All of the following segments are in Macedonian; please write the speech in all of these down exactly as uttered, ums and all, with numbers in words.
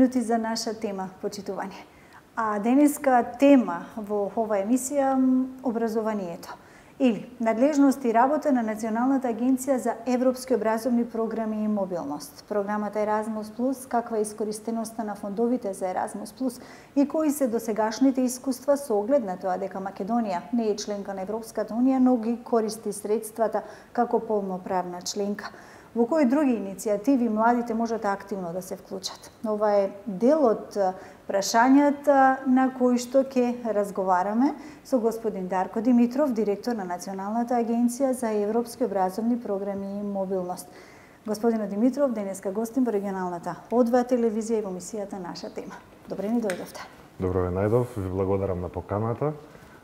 минути за наша тема, почитување. А денеска тема во оваа емисија образованието или надлежност и работа на Националната агенција за европски образовни програми и мобилност. Програмата Erasmus Plus, каква е искористеноста на фондовите за Erasmus Plus и кои се досегашните искуства со оглед на тоа дека Македонија не е членка на Европската унија, но ги користи средствата како полноправна членка. Во кои други иницијативи младите можат активно да се вклучат? Ова е дел од прашањата на кои што ќе разговараме со господин Дарко Димитров, директор на Националната агенција за европски образовни програми и мобилност. Господино Димитров, денеска гостин во регионалната О два телевизија и во емисијата Наша тема. Добре ни дојдовте. Добро ве најдов, ви благодарам на поканата.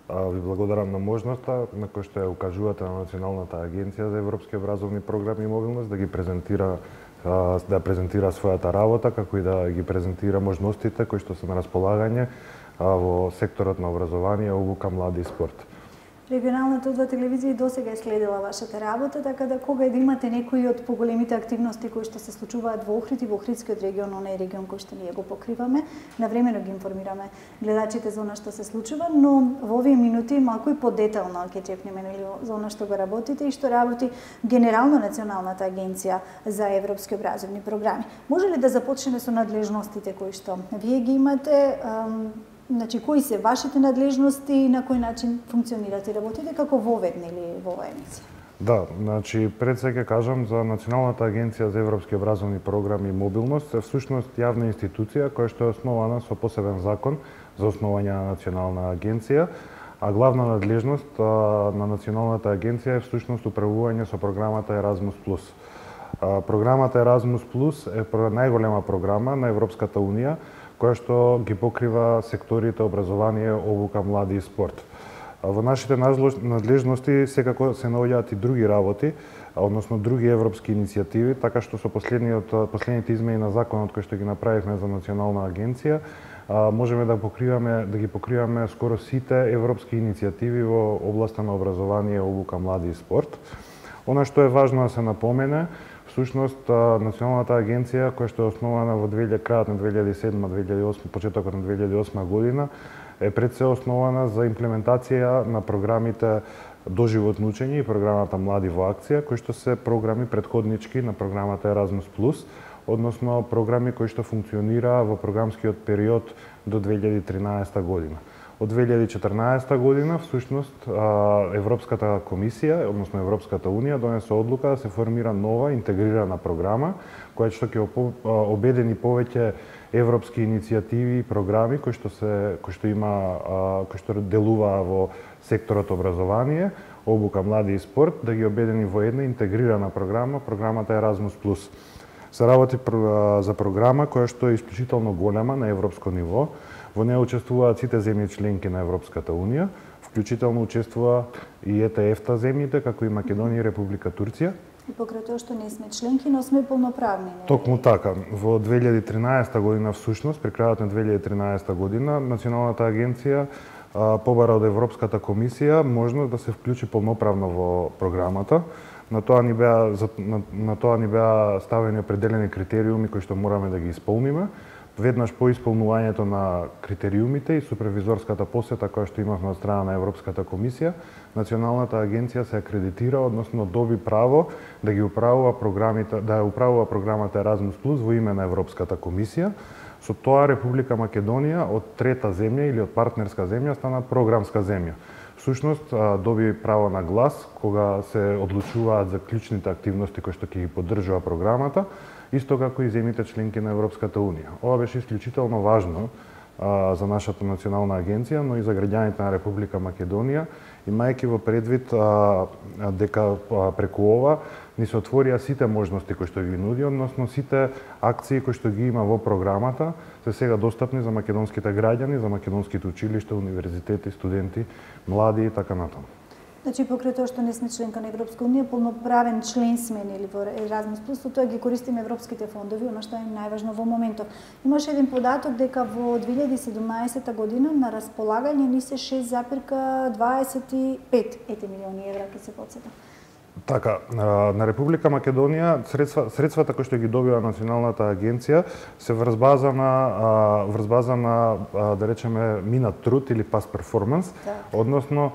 Ви благодарам на можноста на која што ја укажувате на Националната агенција за европски образовни програми и мобилност да ги презентира да презентира својата работа, како и да ги презентира можностите кои што се на располагање во секторот на образование, обука, млади и спорт. Регионалната О два телевизија досега е следила вашата работа, така да кога да имате некои од поголемите активности кои што се случуваат во Охрид и во Охридскиот регион, онај регион кој што ние го покриваме, навремено ги информираме гледачите за она што се случува, но во овие минути малку и подетално ќе чепнеме за она што го работите и што работи генерално Националната агенција за европски образовни програми. Може ли да започнеме со надлежностите кои што вие ги имате? Значи, кои се вашите надлежности и на кој начин функционирате и работите како воведнели во оваа емисија? Да, значи пред се ќе кажам за Националната агенција за европски образовни програми и мобилност е всушност јавна институција која што е основана со посебен закон за основање на Национална агенција, а главна надлежност на Националната агенција е всушност управување со програмата Erasmus Plus. Програмата Erasmus Plus е најголема програма на Европската унија која што ги покрива секторите образование, обука, млади и спорт. Во нашите надлежности секако се наоѓаат и други работи, односно други европски иницијативи, така што со последниот последните измени на законот кои што ги направивме за Национална агенција, можеме да покриваме да ги покриваме скоро сите европски иницијативи во областа на образование, обука, млади и спорт. Она што е важно да се напомене, всушност Националната агенција која што е основана во крајот на две илјади и седма две илјади и осма, почетокот на две илјади и осма година, е пред се основана за имплементација на програмите доживотно учење и програмата Млади во акција, кои што се програми претходнички на програмата Erasmus Plus, односно програми кои што функционира во програмскиот период до две илјади и тринаесета година. Од две илјади и четрнаесета година, всушност, Европската комисија, односно Европската унија, донесе одлука да се формира нова интегрирана програма, која што ќе обедини повеќе европски иницијативи и програми кои што се кои што има кои што делува во секторот образование, обука, млади и спорт, да ги обедини во една интегрирана програма, програмата Erasmus Plus. Се работи за програма која што е исклучително голема на европско ниво. Во неја учествуваат сите земји членки на Европската унија, вклучително учествува и Е Те Еф-та земјите, како и Македонија и Република Турција. И покрај тоа што не сме членки, но сме полноправни. Не? Токму така. Во две илјади и тринаесета година, всушност, при крајот на две илјади и тринаесета година, Националната агенција побара од Европската комисија можност да се вклучи полноправно во програмата. На тоа ни беа на, на тоа ни беа ставени определени критериуми кои што мораме да ги исполниме. Веднаш по исполнувањето на критериумите и супервизорската посета која што имавме од страна на Европската комисија, Националната агенција се акредитира, односно доби право да ги управува програмите, да ја управува програмата Erasmus Plus во име на Европската комисија. Со тоа Република Македонија од трета земја или од партнерска земја стана програмска земја. Всушност доби право на глас кога се одлучуваат за клучните активности кои што ќе ги поддржува програмата, исто како и земјите членки на Европската унија. Ова беше исклучително важно а, за нашата национална агенција, но и за граѓаните на Република Македонија, имајќи во предвид а, дека а, преку ова ни се отворија сите можности кои што ги нуди, односно сите акции кои што ги има во програмата, се сега достапни за македонските граѓани, за македонските училишта, универзитети, студенти, млади и така натаму. Значи, покрај тоа што не сме членка на Европска унија, полноправен член сме нели во Erasmus Plus, со тоа ги користиме европските фондови, она што е најважно во моментов. Имаше еден податок дека во две илјади и седумнаесета година на располагање ни се шест зарез дваесет и пет милиони евра, ќе се потсетам. Така, на Република Македонија средства, средствата кои што ги добива Националната агенција се врз база на врз база на да речеме минат труд или past performance, односно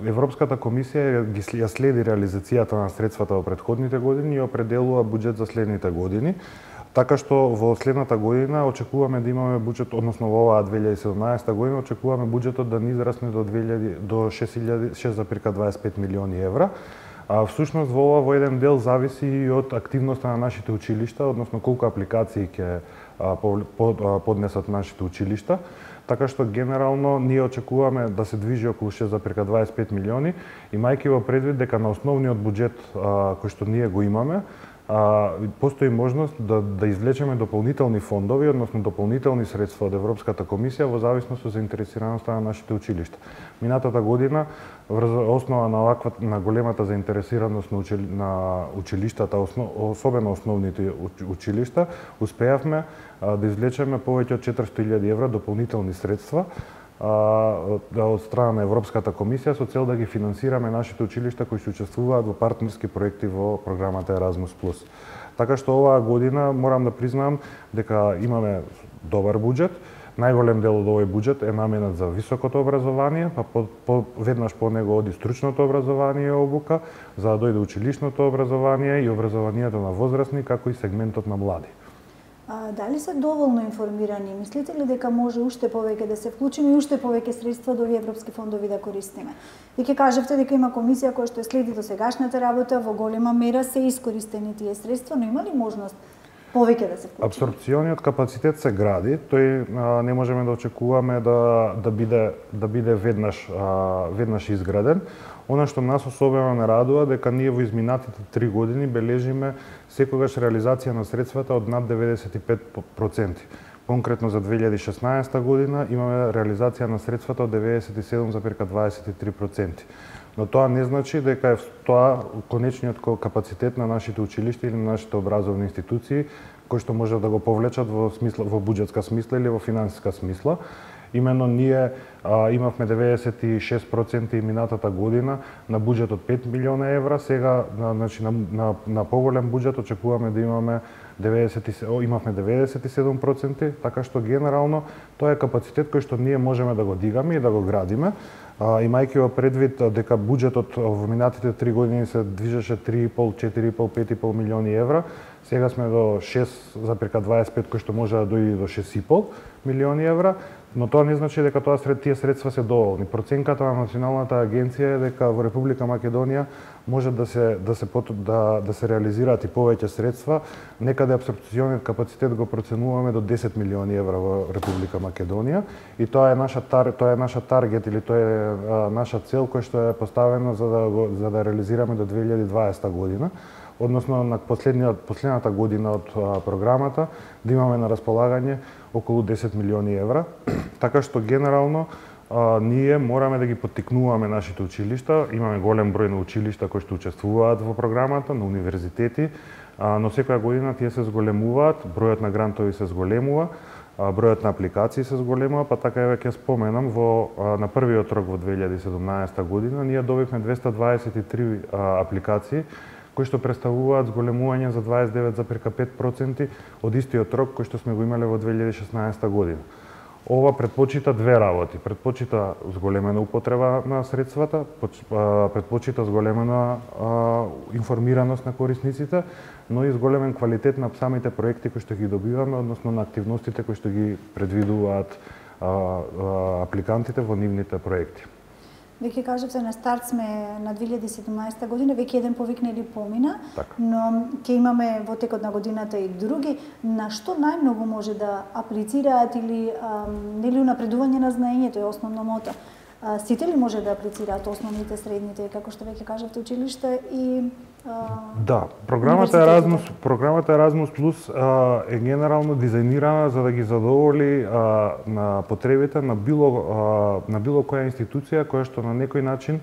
Европската комисија ги ја следи реализацијата на средствата во претходните години и определува буџет за следните години. Така што во следната година очекуваме да имаме буџет, односно во оваа две илјади и седумнаесета година очекуваме буџетот да ни израсне до до шест зарем дваесет и пет милиони евра. А всушност во ова во еден дел зависи и од активноста на нашите училишта, односно колку апликации ќе поднесат нашите училишта. Така што генерално ние очекуваме да се движи околу шест зарем дваесет и пет милиони, имајќи во предвид дека на основниот буџет кој што ние го имаме, А, постои можност да, да извлечеме дополнителни фондови, односно дополнителни средства од Европската комисија во зависност од заинтересираноста на нашите училишта. Минатата година, врз основа на оваква на големата заинтересираност на, учили, на училиштата, основ, особено основните училишта, успеавме а, да извлечеме повеќе од четиристотини илјади евра дополнителни средства од страна на Европската комисија со цел да ги финансираме нашите училишта кои се учествуваат во партнерски проекти во програмата Еразмус плюс. Така што оваа година морам да признам дека имаме добар буџет. Најголем дел од овој буџет е наменет за високото образование, па по, по, веднаш по него оди стручното образование и обука, за да дојде училишното образование и образованието на возрастни, како и сегментот на млади. А, дали се доволно информирани? Мислите ли дека може уште повеќе да се вклучиме и уште повеќе средства од овие европски фондови да користиме? И ќе кажевте дека има комисија која што следи до сегашната работа, во голема мера се искористени тие средства, но има ли можност повеќе да се вклучиме? Апсорпциониот капацитет се гради, тој а, не можеме да очекуваме да да биде да биде веднаш а, веднаш изграден. Она што нас особено не радува дека ние во изминатите три години бележиме секогаш реализација на средствата од над деветдесет и пет проценти. Конкретно за две илјади и шеснаесета година имаме реализација на средствата од деветдесет и седум зарем дваесет и три проценти. Но тоа не значи дека е тоа конечниот капацитет на нашите училишта или на нашите образовни институции кои што може да го повлечат во смисла во буџетска смисла или во финансиска смисла. Имено ние а, имавме деветдесет и шест проценти минатата година на буџет од пет милиона евра, сега на, значи, на, на, на поголем буџет очекуваме да имаме деветдесет и седум, имавме деветдесет и седум проценти, така што генерално тоа е капацитет кој што ние можеме да го дигаме и да го градиме. А, имајќи во предвид дека буџетот во минатите три години се движеше три и пол, четири и пол, пет и пол милиони евра, сега сме до шест зарем дваесет и пет кој што може да дојде до шест и пол милиони евра, но тоа не значи дека тоа сред тие средства се доволни. Проценката на Националната агенција е дека во Република Македонија може да се да се да да се реализираат и повеќе средства. Некаде апсорпциониот капацитет го проценуваме до десет милиони евра во Република Македонија и тоа е наша тар, тоа е наша таргет или тоа е а, наша цел која што е поставена за да го за да реализираме до две илјади и дваесета година. Односно на последниот последната година од а, програмата да имаме на располагање околу десет милиони евра. Така што генерално а, ние мораме да ги поттикнуваме нашите училишта. Имаме голем број на училишта кои што учествуваат во програмата, на универзитети, а, но секоја година тие се зголемуваат, бројот на грантови се зголемува, а, бројот на апликации се зголемува, па така еве ќе споменам во а, на првиот рок во две илјади и седумнаесета година ние добивме двесте дваесет и три а, апликации кои што представуваат зголемување за дваесет и девет зарем пет проценти од истиот рок кој што сме го имале во две илјади и шеснаесета година. Ова предпочита две работи. Предпочита зголемена употреба на средствата, предпочита зголемена а, информираност на корисниците, но и зголемен квалитет на самите проекти кои што ги добиваме, односно на активностите кои што ги предвидуваат а, а, апликантите во нивните проекти. Веќе кажавте на старт сме на две илјади и седумнаесета година, веќе еден повик нели помина, така. Но ќе имаме во текот на годината и други. На што најмногу може да аплицираат или ам, нели унапредување на знаењето е основно мото? А, сите ли може да аплицираат основните, средните, како што веќе кажавте, училишта и Да, програмата Еразмус, програмата Еразмус плюс а, е генерално дизајнирана за да ги задоволи а, на потребите на било а, на било која институција која што на некој начин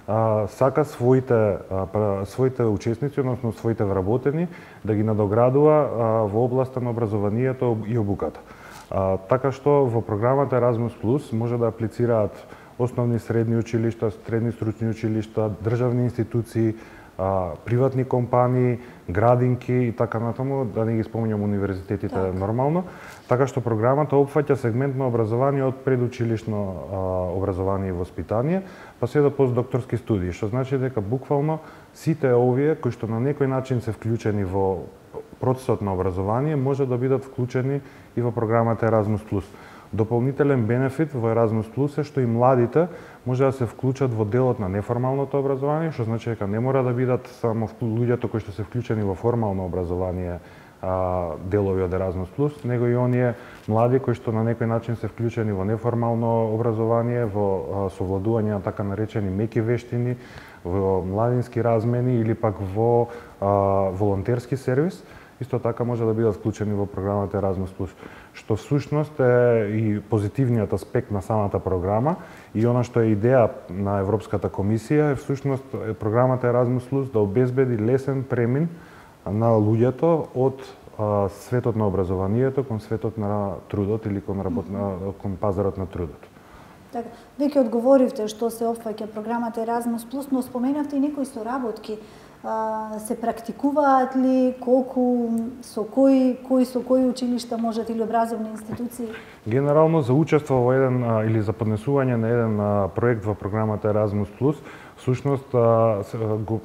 а, сака своите а, своите учесници, односно своите вработени да ги надоградува а, во областа на образованието и обуката. А, така што во програмата Еразмус плюс може да аплицираат основни средни училишта, средни стручни училишта, државни институции, приватни компании, градинки и така натаму, да не ги спомнјам универзитетите так. Нормално, така што програмата опфаќа сегмент на образование од предучилишно а, образование и воспитание, па се до постдокторски студии, што значи дека буквално сите овие кои што на некој начин се вклучени во процесот на образование може да бидат вклучени и во програмата Еразмус плюс. Дополнителен бенефит во Еразмус плюс е што и младите може да се вклучат во делот на неформалното образование, што значи дека не мора да бидат само луѓето кои што се вклучени во формално образование а, делови од Еразмус плюс, него и оние млади кои што на некој начин се вклучени во неформално образование, во а, совладување на така наречени меки вештини, во младински размени или пак во а, волонтерски сервис, исто така може да бидат вклучени во програмата Еразмус плюс, што всушност е и позитивниот аспект на самата програма и она што е идеја на Европската комисија е всушност програмата Еразмус плюс да обезбеди лесен премин на луѓето од а, светот на образованието кон светот на трудот или кон, работ... кон пазарот на трудот. Така, веќе одговоривте што се опфаќа програмата Еразмус плюс, но споменавте и некои соработки. Се практикуваат ли, колку, со кои, кои со кои училишта можат или образовни институции? Генерално за учество во еден или за поднесување на еден проект во програмата Еразмус плюс, всушност,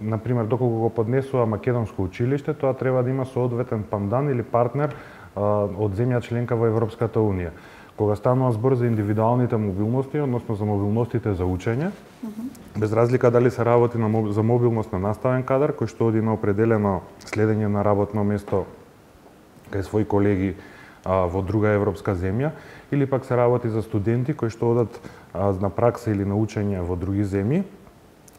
на пример, доколку го поднесува македонско училиште, тоа треба да има соодветен пандан или партнер од земја членка во Европската унија. Кога станува збор за индивидуалните мобилности, односно за мобилностите за учење, uh -huh. без разлика дали се работи на, за мобилност на наставен кадар, кој што оди на определено следење на работно место кај своји колеги а, во друга европска земја, или пак се работи за студенти кои што одат а, на пракса или на учење во други земји,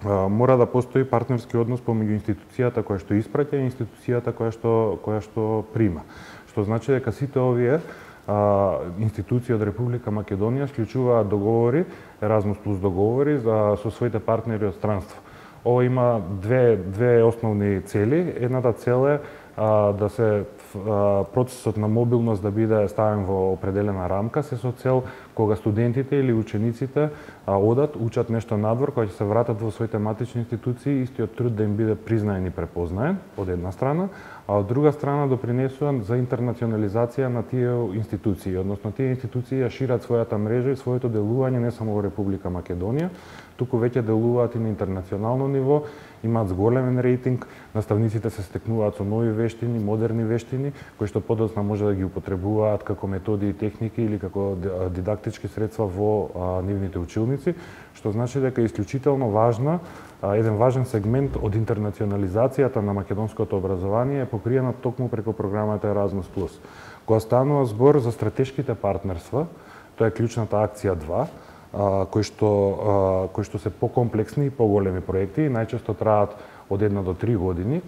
а, мора да постои партнерски однос помеѓу институцијата која што испраќа и институцијата која што, која што прима. Што значи дека сите овие А, институции од Република Македонија склучуваат договори, Еразмус плюс договори за, со своите партнери од странство. Ова има две, две основни цели. Едната цел е а, да се а, процесот на мобилност да биде ставен во определена рамка, се со цел кога студентите или учениците а, одат, учат нешто надвор, кога ќе се вратат во своите матични институции, истиот труд да им биде признаен и препознаен, од една страна, а од друга страна допринесува за интернационализација на тие институции, односно тие институции ја шират својата мрежа и своето делување не само во Република Македонија, туку веќе делуваат и на интернационално ниво, имаат зголемен рейтинг, наставниците се стекнуваат со нови вештини, модерни вештини, кои што подоцна може да ги употребуваат како методи и техники или како дидактички средства во а, нивните училници, што значи дека е исклучително важна, а, еден важен сегмент од интернационализацијата на македонското образование е покриена токму преку програмата Еразмус плюс. Кога станува збор за стратешките партнерства, тоа е клучната акција два, а, кои што а, кои што се покомплексни и поголеми проекти и најчесто траат од една до три години.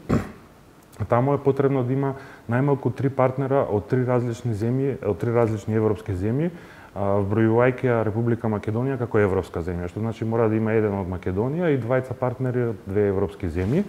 Таму е потребно да има најмалку три партнера од три различни земји, од три различни европски земји, вбројувајќи ја Република Македонија како европска земја, што значи мора да има еден од Македонија и двајца партнери од две европски земји.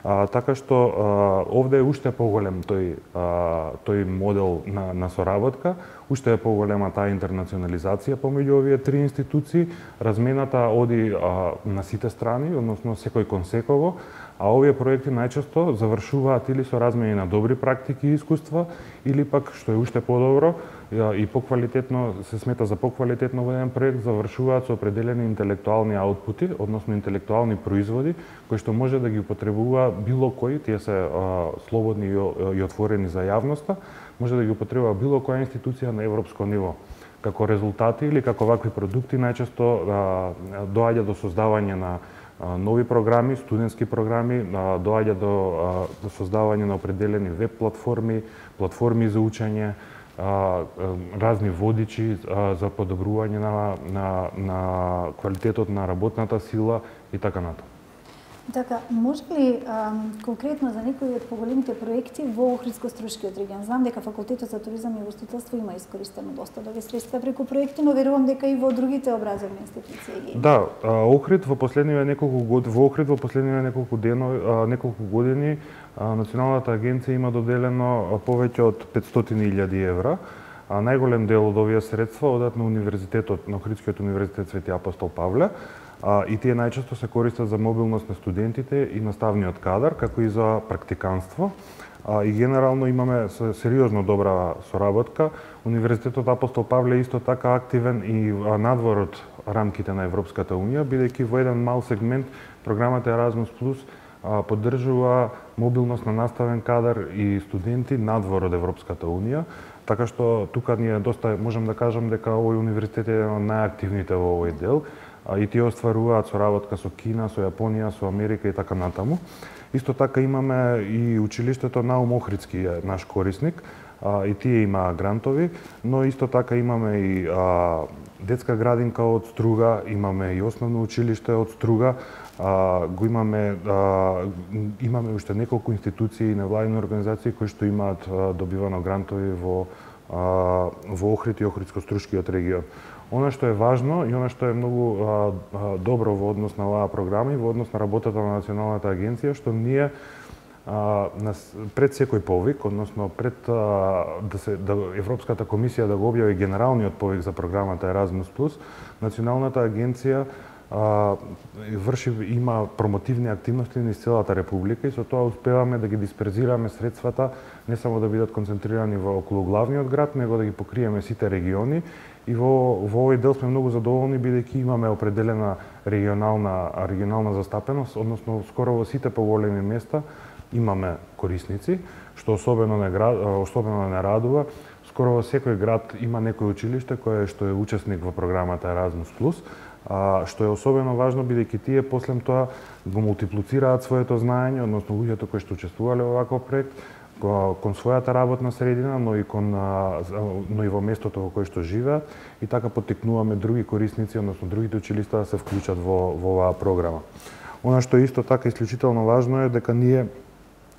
А, така што а, овде е уште поголем тој а, тој модел на, на соработка, уште е поголема таа интернационализација помеѓу овие три институции, размената оди а, на сите страни, односно секој кон секого, а овие проекти најчесто завршуваат или со размени на добри практики и искуства, или пак, што е уште подобро и поквалитетно, се смета за поквалитетно во еден проект, завршуваат со определени интелектуални аутпути, односно интелектуални производи, кои што може да ги употребува било кој, тие се а, слободни и, и отворени за јавноста, може да ги употребува било која институција на европско ниво. Како резултати или како вакви продукти најчесто а, доаѓа до создавање на а, нови програми, студентски програми, а, доаѓа до, а, до создавање на определени веб платформи, платформи за учење, а, разни водичи а, за подобрување на, на, на квалитетот на работната сила и така натаму. Така, може ли а, конкретно за некои од поголемите проекти во Охридско-Струшкиот регион? Знам дека Факултетот за туризам и гостителство има искористено доста добри средства преку проекти, но верувам дека и во другите образовни институции. Да, Охрид во последниве неколку години, во Охрид во последниве неколку дено, неколку години Националната агенција има доделено повеќе од петстотини илјади евра. А најголем дел од овие средства одат на универзитетот, на Охридскиот универзитет Свети Апостол Павле. а, и тие најчесто се користат за мобилност на студентите и наставниот кадар, како и за практиканство. А, и генерално имаме сериозно добра соработка. Универзитетот Апостол Павле е исто така активен и надвор од рамките на Европската Унија, бидејќи во еден мал сегмент програмата Еразмус Плюс поддржува мобилност на наставен кадар и студенти надвор од Европската Унија, така што тука ние доста можам да кажам дека овој универзитет е еден од најактивните во овој дел, и тие остваруваат соработка со Кина, со Јапонија, со Америка и така натаму. Исто така имаме и училиштето Наум Охридски е наш корисник, и тие има грантови, но исто така имаме и а, детска градинка од Струга, имаме и основно училиште од Струга, а, го имаме а, имаме уште неколку институции и невладини организации кои што имаат а, добивано грантови во а, во Охрид и Охридско-Струшкиот регион. Она што е важно и она што е многу а, а, добро во однос на оваа програма и во однос на работата на Националната агенција, што ние а, нас, пред секој повик, односно пред а, да се да Европската комисија да го објави генералниот повик за програмата Еразмус Плюс, Националната агенција а, врши има промотивни активности низ целата република и со тоа успеваме да ги дисперзираме средствата не само да бидат концентрирани во околу главниот град, него да ги покриеме сите региони. И во, во овој дел сме многу задоволни бидејќи имаме определена регионална регионална застапеност, односно скоро во сите поголеми места имаме корисници, што особено не град, особено не радува. Скоро во секој град има некој училиште кое што е учесник во програмата Еразмус Плюс, што е особено важно бидејќи тие после тоа го мултиплицираат своето знаење, односно луѓето кои што учествувале во ваков проект кон својата работна средина, но и кон но и во местото во кое што живеат, и така поттикнуваме други корисници, односно другите училишта да се вклучат во во оваа програма. Она што е исто така исклучително важно е дека ние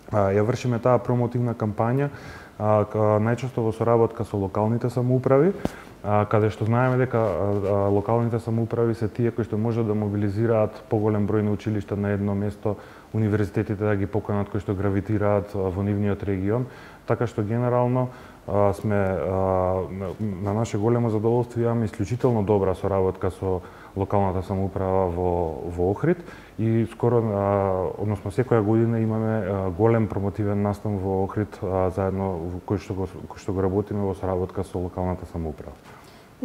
а, ја вршиме таа промотивна кампања а, најчесто во соработка со локалните самоуправи, а, каде што знаеме дека а, локалните самоуправи се тие кои што можат да мобилизираат поголем број на училишта на едно место, универзитетите да ги поканат кои што гравитираат во нивниот регион, така што генерално а, сме а, на наше големо задоволство имаме исклучително добра соработка со локалната самоуправа во во Охрид и скоро а, односно секоја година имаме а, голем промотивен настан во Охрид а, заедно кој што го кој што го работиме во соработка со локалната самоуправа.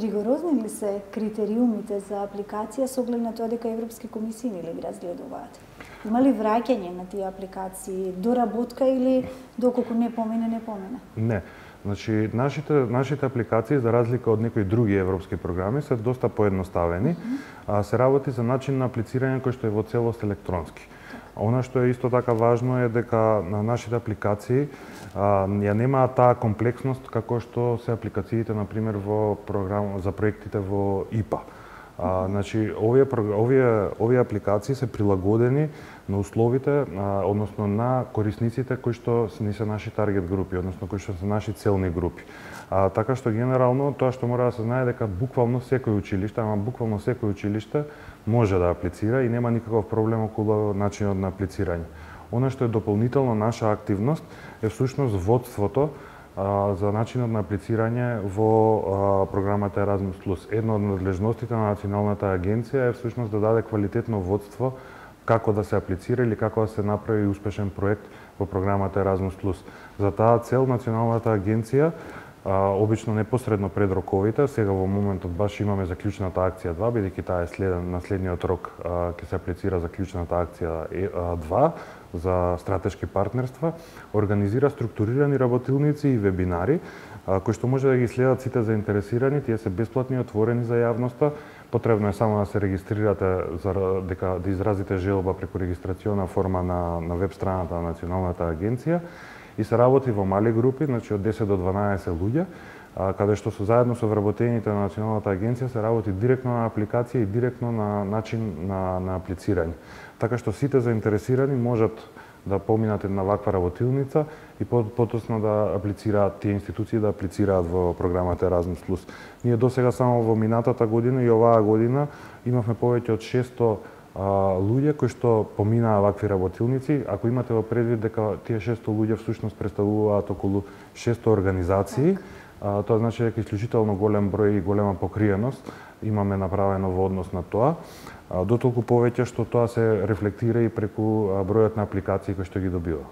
Ригорозни ли се критериумите за апликација со оглед на тоа дека европски комисии не ли ги разгледуваат? Има ли враќање на тие апликации, доработка или доколку не помине, не помине? Не. Значи, нашите, нашите апликации, за разлика од некои други европски програми, се доста поедноставени. Mm -hmm. а, се работи за начин на аплицирање кој што е во целост електронски. Она што е исто така важно е дека на нашите апликации а, ја немаат таа комплексност како што се апликациите, например, во програм за проектите во И П А. А, значи, овие, овие, овие апликации се прилагодени на условите, а, односно на корисниците кои што не се наши таргет групи, односно кои што се наши целни групи. А, така што генерално тоа што мора да се знае дека буквално секој училиште, ама буквално секој училиште може да аплицира и нема никаков проблем околу начинот на аплицирање. Она што е дополнително наша активност е всушност водството за начинот на аплицирање во а, програмата Еразмус Плюс. Една од надлежностите на Националната агенција е всушност да даде квалитетно водство како да се аплицира или како да се направи успешен проект во програмата Еразмус Плюс. За таа цел Националната агенција а, обично непосредно пред роковите, сега во моментот баш имаме заклучната акција два, бидејќи таа е следен на следниот рок ќе се аплицира заклучната акција два за стратешки партнерства, организира структурирани работилници и вебинари, а, кои што може да ги следат сите заинтересирани, тие се бесплатни и отворени за јавноста. Потребно е само да се регистрирате за дека да изразите желба преку регистрациона форма на на веб страната на Националната агенција и се работи во мали групи, значи од десет до дванаесет луѓе, а, каде што со заедно со вработените на Националната агенција се работи директно на апликација и директно на начин на на аплицирање. Така што сите заинтересирани можат да поминат една ваква работилница и потосно да аплицираат тие институции да аплицираат во програмата Еразмус Плюс. Ние досега само во минатата година и оваа година имавме повеќе од шесто а, луѓе кои што поминаа вакви работилници. Ако имате во предвид дека тие шесто луѓе всушност представуваат околу шесто организации, а, тоа значи дека исклучително голем број и голема покриеност имаме направено во однос на тоа. дотолку повеќе што тоа се рефлектира и преку бројот на апликации кои што ги добива.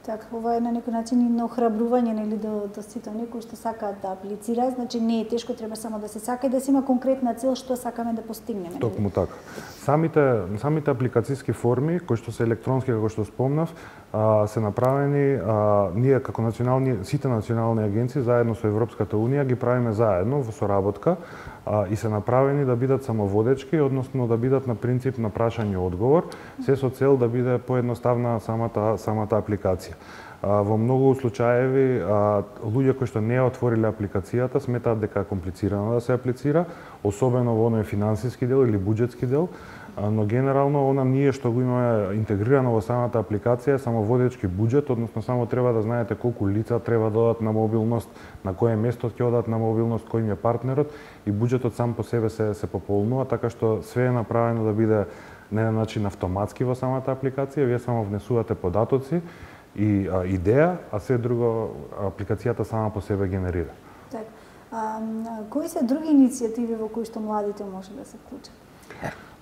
Така, ова е на некој начин и на охрабрување нели до до сите оние кои што сакаат да аплицираат, значи не е тешко, треба само да се сака и да се има конкретна цел што сакаме да постигнеме. Токму така. Самите самите апликациски форми кои што се електронски, како што спомнав, а, се направени а, ние како национални сите национални агенции заедно со Европската унија ги правиме заедно во соработка а, и се направени да бидат самоводечки, односно да бидат на принцип на прашање и одговор, се со цел да биде поедноставна самата самата апликација. А, во многу случаеви а, луѓе кои што не ја отвориле апликацијата сметаат дека е комплицирано да се аплицира, особено во оној финансиски дел или буџетски дел, а, но генерално она ние што го имаме интегрирано во самата апликација е самоводечки буџет, односно само треба да знаете колку лица треба да одат на мобилност, на кое место ќе одат на мобилност, кој им е партнерот и буџетот сам по себе се се пополнува, така што све е направено да биде на еден начин автоматски во самата апликација, вие само внесувате податоци и а, идеја, а се друго апликацијата сама по себе генерира. Так. А, кои се други иницијативи во кои што младите може да се вклучат?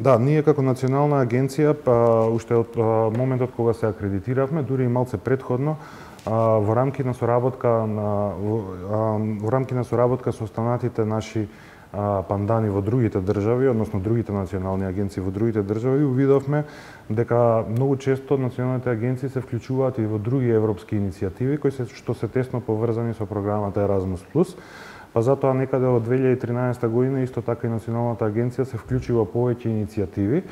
Да, ние како национална агенција, па, уште од а, моментот кога се акредитиравме, дури и малце предходно, а, во рамки на соработка на во, а, во рамки на соработка со останатите наши пандани во другите држави, односно другите национални агенции во другите држави, увидовме дека многу често националните агенции се вклучуваат и во други европски иницијативи кои се што се тесно поврзани со програмата Еразмус плюс. Па затоа некаде од две илјади и тринаесета година исто така и националната агенција се вклучи во повеќе иницијативи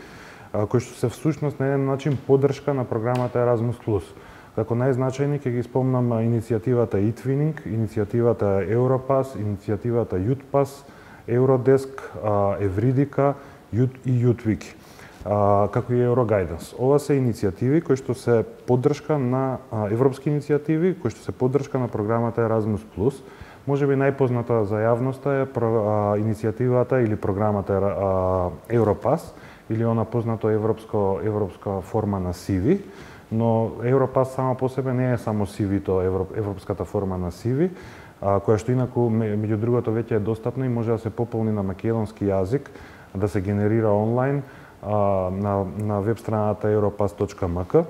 кои што се всушност на еден начин поддршка на програмата Еразмус плюс. Како најзначајни ќе ги спомнам иницијативата e-Twinning, иницијативата Европас, иницијативата Јутпас, Евродеск, Евридика и Јутвики, како и Еврогайденс. Ова се иницијативи кои што се поддршка на европски иницијативи, кои што се поддршка на програмата Еразмус плюс. Можеби најпозната за јавноста е иницијативата или програмата Европас, или она познато европско европска форма на сиви, но Европас само по себе не е само сивито, европската форма на сиви, која што инаку меѓу другото веќе е достапна и може да се пополни на македонски јазик, да се генерира онлайн а, на, на веб страната europass точка ем ка.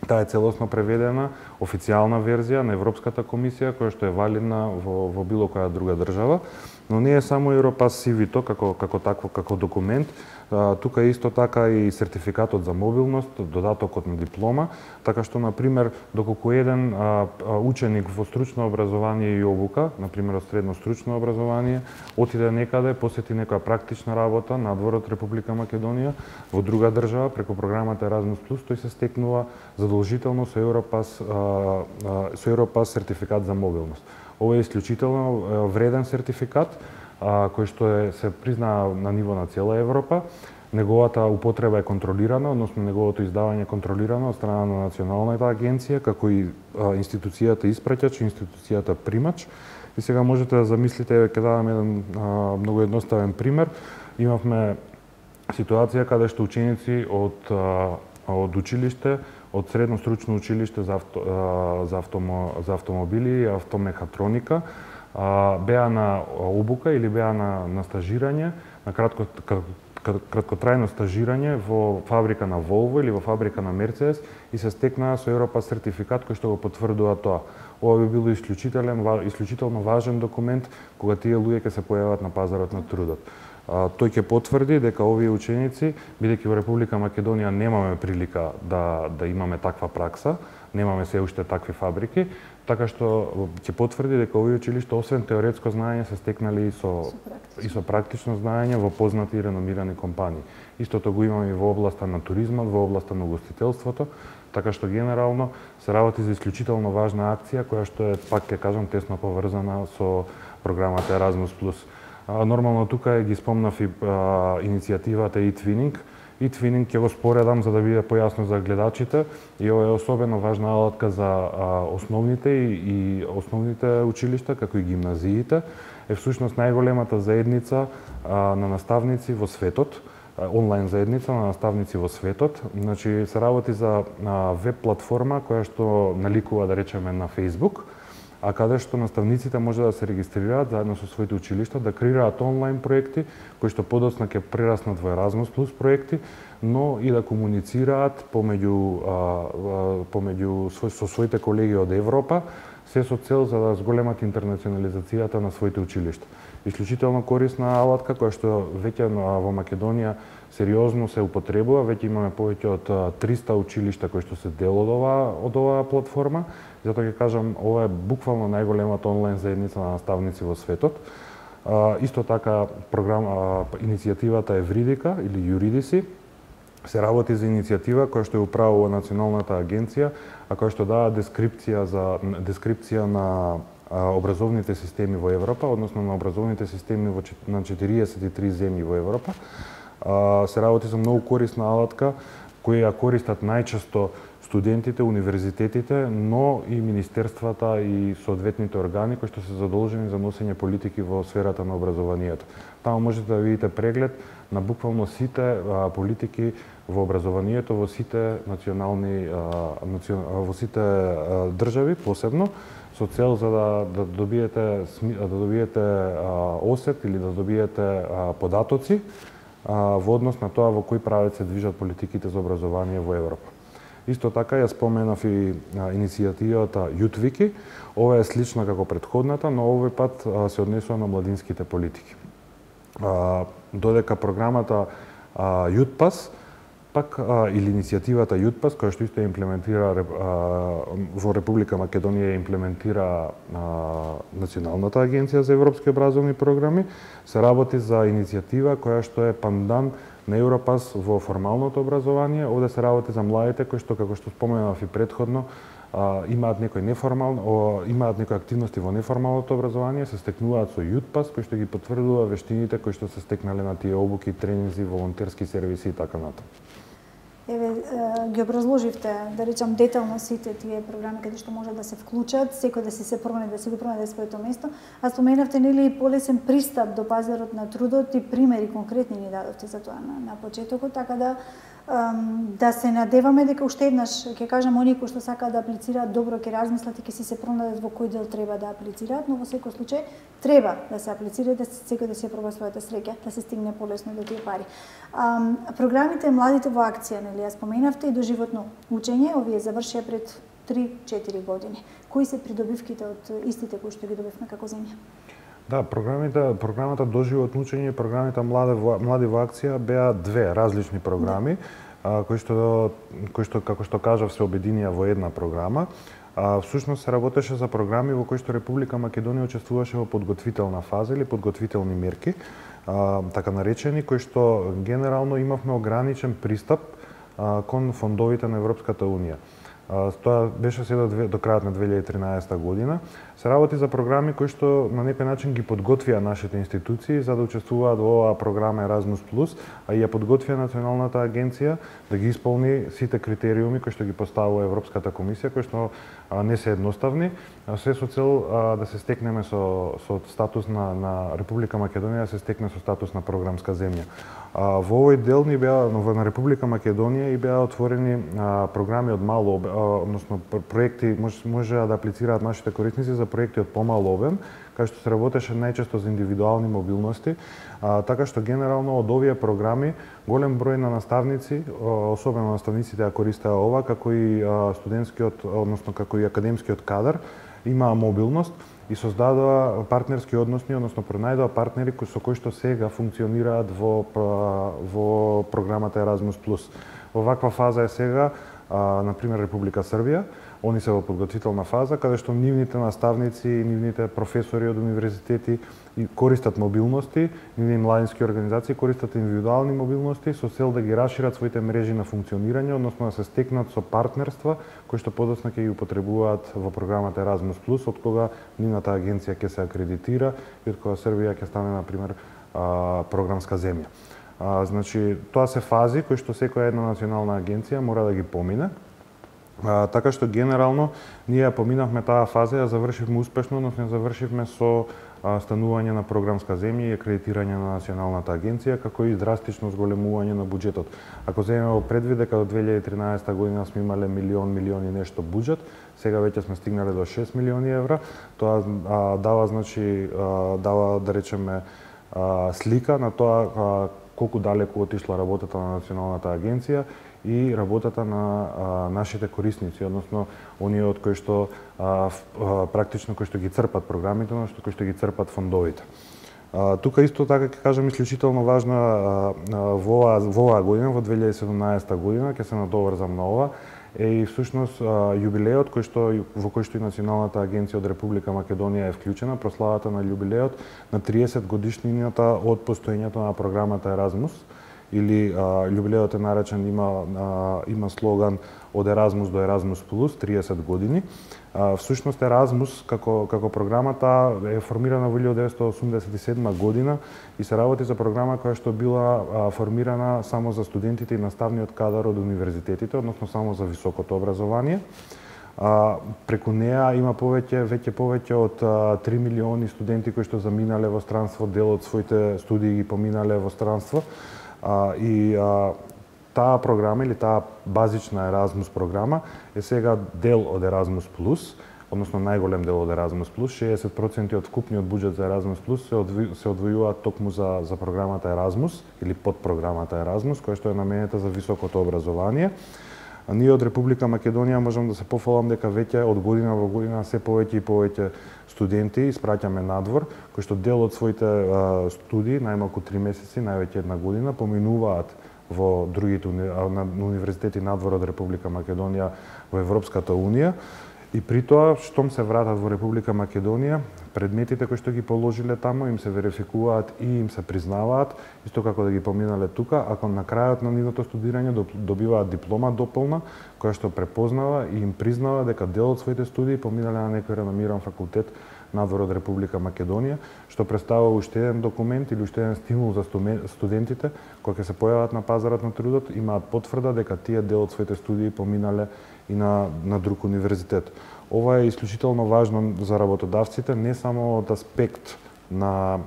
Таа е целосно преведена, официјална верзија на Европската комисија, која што е валидна во, во било која друга држава, но не е само Европас сивито како, како такво, како документ, а, тука е исто така и сертификатот за мобилност, додатокот на диплома, така што, например, доколку еден а, а, ученик во стручно образование и обука, например, од средно стручно образование, отиде некаде, посети некоја практична работа надвор од Република Македонија, во друга држава, преку програмата Еразмус плюс, тој се стекнува задолжително со Европас, а, а, со Европас сертификат за мобилност. Ова е исклучително вреден сертификат, а, кој што е, се признаа на ниво на цела Европа. Неговата употреба е контролирана, односно неговото издавање е контролирано од страна на Националната агенција, како и а, институцијата испраќач и институцијата примач. И сега можете да замислите, ќе дадам еден а, многу едноставен пример. Имавме ситуација каде што ученици од, а, од училиште, од средно стручно училиште за, авто, за, автомо, за автомобили и автомехатроника, беа на обука или беа на, на стажирање, на кратко, краткотрајно стажирање во фабрика на Volvo или во фабрика на Mercedes и се стекнаа со Европас сертификат кој што го потврдува тоа. Ова би било исклучителен, исклучително важен документ кога тие луѓе ќе се појават на пазарот на трудот. А, тој ќе потврди дека овие ученици, бидејќи во Република Македонија немаме прилика да, да имаме таква пракса, немаме се уште такви фабрики, така што ќе потврди дека овие училишта освен теоретско знаење се стекнали и со, и со практично знаење во познати и реномирани компании. Истото го имаме и во областа на туризмот, во областа на угостителството, така што генерално се работи за исклучително важна акција која што е, пак ќе кажам, тесно поврзана со програмата Еразмус плюс. Нормално тука ги спомнав и а, иницијативата e-Twinning. e-Twinning ќе го споредам за да биде појасно за гледачите и ова е особено важна алатка за а, основните и, и основните училишта, како и гимназиите. Е всушност најголемата заедница а, на наставници во светот, а, онлайн заедница на наставници во светот. Значи се работи за а, веб платформа која што наликува, да речеме, на Facebook, а каде што наставниците може да се регистрираат заедно со своите училишта, да креираат онлайн проекти кои што подоцна ќе прераснат во Еразмус плюс проекти, но и да комуницираат помеѓу а, а, помеѓу со своите колеги од Европа, се со цел за да зголемат интернационализацијата на своите училишта. Исклучително корисна алатка која што веќе во Македонија сериозно се употребува, веќе имаме повеќе од триста училишта кои што се дел од оваа од оваа платформа. Затоа ќе кажам, ова е буквално најголемата онлайн заедница на наставници во светот. А, исто така програма иницијативата Евридика или Юридиси се работи за иницијатива која што ја управува Националната агенција, а која што дава дескрипција за дескрипција на образовните системи во Европа, односно на образовните системи во на четириесет и три земји во Европа. А, се работи за многу корисна алатка која ја користат најчесто студентите, универзитетите, но и министерствата и соодветните органи кои што се задолжени за носење политики во сферата на образованието. Таму можете да видите преглед на буквално сите а, политики во образованието во сите национални а, национ... во сите а, држави посебно, со цел за да, да добиете да добиете а, осет или да добиете а, податоци а, во однос на тоа во кој правец се движат политиките за образование во Европа. Исто така ја споменав и а, иницијативата Јутвики. Ова е слична како претходната, но овој пат а, се однесува на младинските политики. А, додека програмата а, Јутпас, пак а, или иницијативата Јутпас, која што исто ја имплементира а, во Република Македонија ја имплементира а, Националната агенција за европски образовни програми, се работи за иницијатива која што е пандан на Европас во формалното образование. Овде се работи за младите кои што, како што споменав и претходно, а, имаат некои неформални, о, имаат некои активности во неформалното образование, се стекнуваат со Јутпас, кој што ги потврдува вештините кои што се стекнале на тие обуки, тренинзи, волонтерски сервиси и така натаму. Еве, ги образложивте, да речам, детално сите тие програми каде што може да се вклучат, секој да се се пронајде, да се го пронајде своето место, а споменавте нели полесен пристап до пазарот на трудот и примери конкретни ни дадовте за тоа на, на почетокот, така да да се надеваме дека уште еднаш ќе кажам оние кои што сакаат да аплицираат добро ќе размислат и ќе си се пронајдат во кој дел треба да аплицираат, но во секој случај треба да се аплицира, да секој да си проба својата среќа, да се стигне полесно до тие пари. А, програмите Младите во акција, нели ја споменавте, и доживотно учење, овие завршија пред три-четири години. Кои се придобивките од истите кои што ги добивме како земја? Да, програмите, програмата Доживотно учење и програмите Млади во, Млади во акција беа две различни програми, а, кои што кои што како што кажав се обединија во една програма. А, всушност се работеше за програми во кои што Република Македонија учествуваше во подготвителна фаза или подготвителни мерки, а, така наречени, кои што генерално имавме ограничен пристап а, кон фондовите на Европската унија. Тоа беше се до, до крајот на две илјади и тринаесетта година. Се работи за програми кои што на некој начин ги подготвија нашите институции за да учествуваат во оваа програма Еразмус плюс, а и ја подготвија Националната агенција да ги исполни сите критериуми кои што ги поставува Европската комисија, кои што а, не се едноставни, а се со цел а, да се стекнеме со, со статус на, на Република Македонија, да се стекне со статус на програмска земја. А, во овој дел ни беа на Република Македонија и беа отворени а, програми од мало, односно проекти може можеа да аплицираат нашите корисници за проекти од помал обем, кај што се работеше најчесто за индивидуални мобилности, а, така што генерално од овие програми голем број на наставници, особено наставниците ја користеа ова, како и а, студентскиот, односно како и академскиот кадар, имаа мобилност и создадоа партнерски односи, односно пронајдоа партнери кои со кои што сега функционираат во во програмата Еразмус плюс. Во ваква фаза е сега, а, на пример Република Србија. Они се во подготвителна фаза каде што нивните наставници, нивните професори од универзитети користат мобилности, нивни младински организации користат индивидуални мобилности со цел да ги расшират своите мрежи на функционирање, односно да се стекнат со партнерства кои што подоцна ќе ги употребуваат во програмата Еразмус плюс, од кога нивната агенција ќе се акредитира и од кога Србија ќе стане на пример програмска земја. А, значи, тоа се фази кои што секоја една национална агенција мора да ги помине. А, така што генерално ние поминавме таа фаза, ја завршивме успешно, но не завршивме со а, станување на програмска земја и акредитирање на Националната агенција, како и драстично зголемување на буџетот. Ако земеме предвид дека до две илјади и тринаесетта година сме имале милион, милион и нешто буџет, сега веќе сме стигнале до шест милиони евра, тоа а, дава, значи, а, дава, да речеме, а, слика на тоа а, колку далеку отишла работата на Националната агенција и работата на а, нашите корисници, односно оние од кои што а, а, практично кои што ги црпат програмите, но што кои што ги црпат фондовите. А, тука исто така ќе кажам исклучително важно а, а, во оваа во оваа година, во две илјади и седумнаесетта година, ќе се надоврзам на ова, е и всушност а, јубилеот кој што во кој што и Националната агенција од Република Македонија е вклучена, прославата на јубилеот на триесет годишнината од постоењето на програмата Еразмус, или а, јубилеот е наречен, има а, има слоган од Еразмус до Еразмус плюс, триесет години. А, всушност Еразмус како како програмата е формирана во илјадесетстотини осумдесет и седма година и се работи за програма која што била а, формирана само за студентите и наставниот кадар од универзитетите, односно само за високото образование. А, преку неа има повеќе, веќе повеќе од а, три милиони студенти кои што заминале во странство, дел од своите студии ги поминале во странство. А, и а, таа програма или таа базична Еразмус програма е сега дел од Еразмус плюс, односно најголем дел од Еразмус плюс, шеесет проценти од вкупниот буџет за Еразмус плюс се, одви, се одвојуваат токму за, за програмата Еразмус или подпрограмата Еразмус, која што е наменета за високото образование. А ние од Република Македонија можам да се пофалам дека веќе од година во година се повеќе и повеќе студенти испраќаме надвор, кои што дел од своите а, студии, најмалку три месеци, највеќе една година, поминуваат во другите уни... на универзитети надвор од Република Македонија во Европската унија. И при тоа, штом се вратат во Република Македонија, предметите кои што ги положиле таму им се верификуваат и им се признаваат, исто како да ги поминале тука, ако на крајот на нивното студирање добиваат диплома дополна, која што препознава и им признава дека дел од своите студии поминале на некој реномиран факултет надвор од Република Македонија, што представува уште еден документ или уште еден стимул за студентите кои ќе се појават на пазарот на трудот, имаат потврда дека тие дел од своите студии поминале и на, на друг универзитет. Ова е исклучително важно за работодавците, не само од аспект на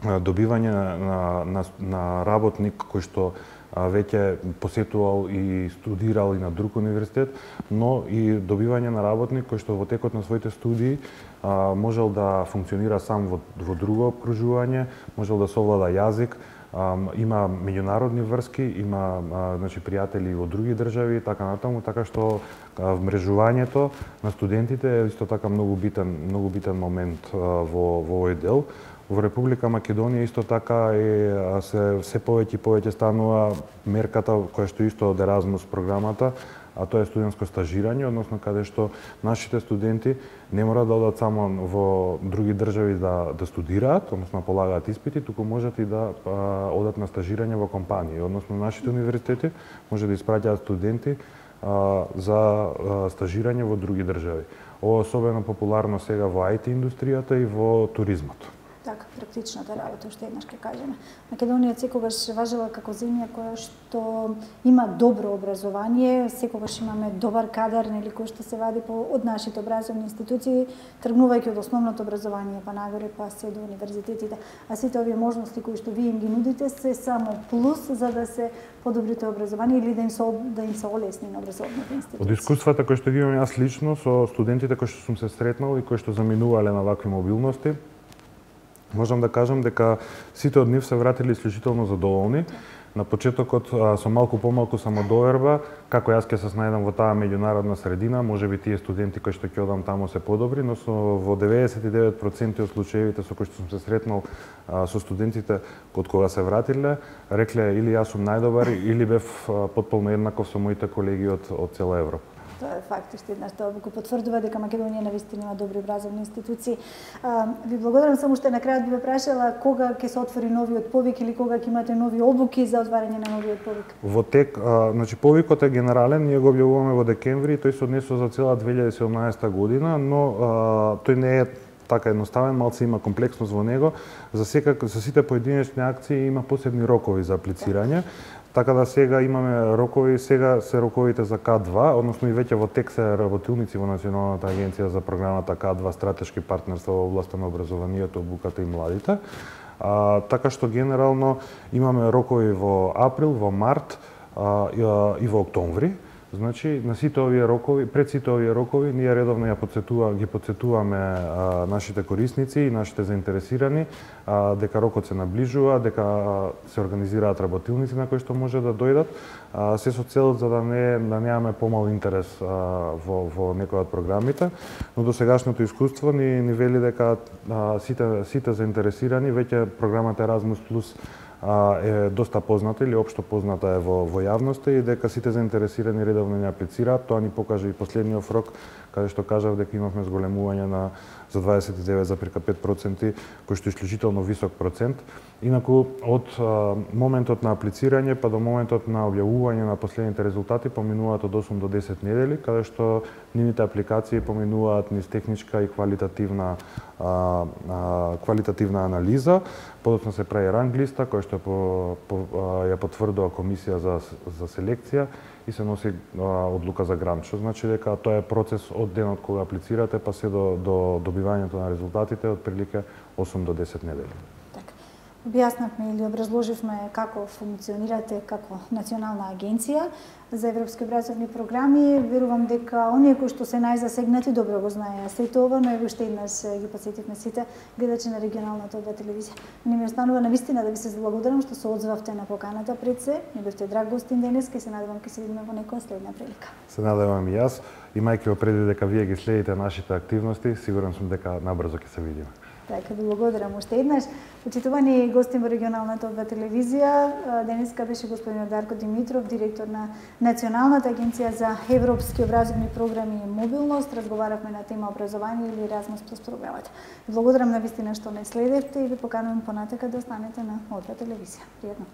добивање на, на, на работник кој што веќе посетувал и студирал и на друг универзитет, но и добивање на работник кој што во текот на своите студии а, можел да функционира сам во, во друго обкружување, можел да совлада јазик, а, има меѓународни врски, има а, значи пријатели во други држави и така натаму, така што а, вмрежувањето на студентите е исто така многу битен, многу битен момент а, во во овој дел. Во Република Македонија исто така е се се повеќе и повеќе станува мерката која што исто од Еразмус програмата, а тоа е студентско стажирање, односно каде што нашите студенти не мора да одат само во други држави да да студираат, односно полагаат испити, туку можат и да а, одат на стажирање во компании, односно нашите универзитети може да испраќаат студенти а, за а, стажирање во други држави. Ова е особено популарно сега во ай ти индустријата и во туризмот. Така, практичната работа, уште еднаш ќе кажеме. Македонија секогаш важела како земја која што има добро образование, секогаш имаме добар кадар, нели, кој што се вади по, од нашите образовни институции, тргнувајќи од основното образование па нагоре, па се до универзитетите. А сите овие можности кои што вие им ги нудите се само плюс за да се подобрите образование или да им се да им се олесни на образовните институции. Од искуствата кои што ги имам јас лично со студентите кои што сум се сретнал и кои што заминувале на вакви мобилности, можам да кажам дека сите од нив се вратили исклучително задоволни. На почетокот со малку помалку самодоверба, како јас ќе се снајдам во таа меѓународна средина, можеби тие студенти кои што ќе одам таму се подобри, но со во деветдесет и девет проценти од случаевите со кои што сум се сретнал а, со студентите од кога се вратиле, рекле или јас сум најдобар или бев потполно еднаков со моите колеги од од цела Европа. Тоа е факт, уште еднаш тоа го потврдува дека Македонија навистина има добри образовни институции. А, ви благодарам, само што на крајот би ве прашала кога ќе се отвори новиот повик или кога ќе имате нови обуки за отварање на новиот повик? Во тек, а, значи повикот е генерален, ние го објавуваме во декември, тој се однесува за цела две илјади и седумнаесетта година, но а, тој не е така едноставен, малце има комплексност во него. За секак, за сите поединечни акции има посебни рокови за аплицирање. Така да сега имаме рокови, сега се роковите за К два, односно и веќе во тек се работилници во Националната агенција за програмата К два стратешки партнерства во областа на образованието, обуката и младите. А, така што генерално имаме рокови во април, во март а, и, а, и во октомври. Значи, на сите овие рокови, пред сите овие рокови, ние редовно ја подсетува, ги подсетуваме а, нашите корисници и нашите заинтересирани а, дека рокот се наближува, дека а, се организираат работилници на кои што може да дојдат, а, се со цел за да не да немаме помал интерес а, во во некој од програмите, но до сегашното искуство ни ни вели дека а, сите сите заинтересирани веќе програмата Erasmus Plus е доста позната или општо позната е во, во јавноста и дека сите заинтересирани редовно не аплицираат. Тоа ни покажа и последниот рок, каде што кажав дека имавме зголемување на за дваесет и девет зарез пет проценти, кој што е исклучително висок процент. Инаку, од а, моментот на аплицирање па до моментот на објавување на последните резултати поминуваат од осум до десет недели, каде што нивните апликации поминуваат низ техничка и квалитативна а, а, квалитативна анализа. Подоцна се прави ранг листа, која што по, по, а, ја потврдува комисија за, за селекција и се носи а, одлука за грант, што значи дека тоа е процес од денот кога аплицирате па се до, до добивањето на резултатите од прилика осум до десет недели. Објаснавме или образложивме како функционирате како национална агенција за европски образовни програми. Верувам дека оние кои што се најзасегнати добро го знаеа сето ова, но уште еднаш ги потсетивме сите гледачи на регионалната ОД телевизија. Не ми останува навистина да ви се заблагодарам што се одзвавте на поканата пред се. Не бевте драг гостин денес, ке се надевам ке се видиме во некоја следна прилика. Се надевам и јас, имајќи во предвид дека вие ги следите нашите активности, сигурен сум дека набрзо ќе се видиме. Така, ви благодарам уште еднаш. Почитувани гости во регионалната ОД телевизија, денеска беше господин Дарко Димитров, директор на Националната агенција за европски образовни програми и мобилност. Разговаравме на тема образование или Erasmus Plus програмата. Ви благодарам на вистина што не следевте и ви поканувам понатака да останете на ОД телевизија. Пријатно.